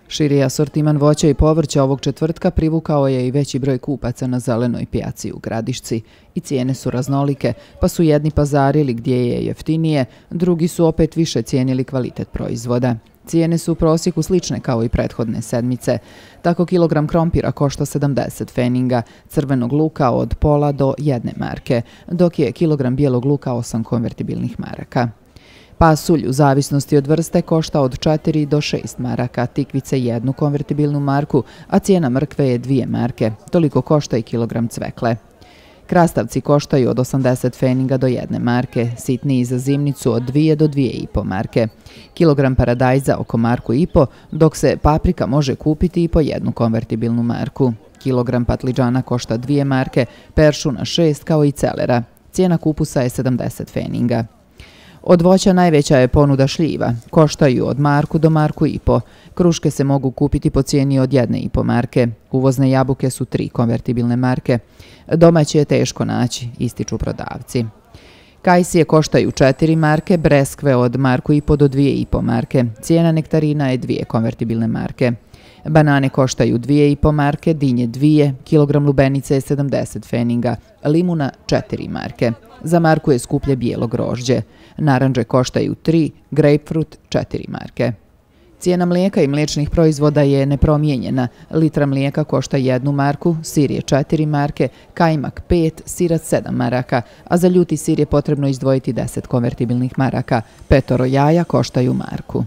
Širi asortiman voća i povrća ovog četvrtka privukao je i veći broj kupaca na zelenoj pijaci u Gradišci. I cijene su raznolike, pa su jedni pazarili gdje je jeftinije, drugi su opet više cijenili kvalitet proizvoda. Cijene su u prosjeku slične kao i prethodne sedmice. Tako kilogram krompira košta 70 feninga, crvenog luka od pola do 1 marke, dok je kilogram bijelog luka 8 konvertibilnih maraka. Pasulj u zavisnosti od vrste košta od 4 do 6 maraka, tikvice 1 konvertibilnu marku, a cijena mrkve je 2 marke. Toliko košta i kilogram cvekle. Krastavci koštaju od 80 feninga do 1 marke, sitniji za zimnicu od 2 do 2,5 marke. Kilogram paradajza oko 1,5 marku, dok se paprika može kupiti i po 1 konvertibilnu marku. Kilogram patliđana košta 2 marke, peršuna 6 kao i celera. Cijena kupusa je 70 feninga. Od voća najveća je ponuda šljiva, koštaju od 1 marku do 1,5 marku. Kruške se mogu kupiti po cijeni od 1,5 marke. Uvozne jabuke su 3 konvertibilne marke. Domaće je teško naći, ističu prodavci. Kajsije koštaju 4 marke, breskve od 1,5 marku do 2,5 marke. Cijena nektarina je 2 konvertibilne marke. Banane koštaju 2,5 marke, dinje 2, kilogram lubenice je 70 feninga, limuna 4 marke. Za marku je skuplje bijelo grožđe. Narandže koštaju 3, grapefruit 4 marke. Cijena mlijeka i mliječnih proizvoda je nepromijenjena. Litra mlijeka košta 1 marku, sir je 4 marke, kajmak 5, sirac 7 maraka, a za ljuti sir je potrebno izdvojiti 10 konvertibilnih maraka. 5 jaja koštaju 1 marku.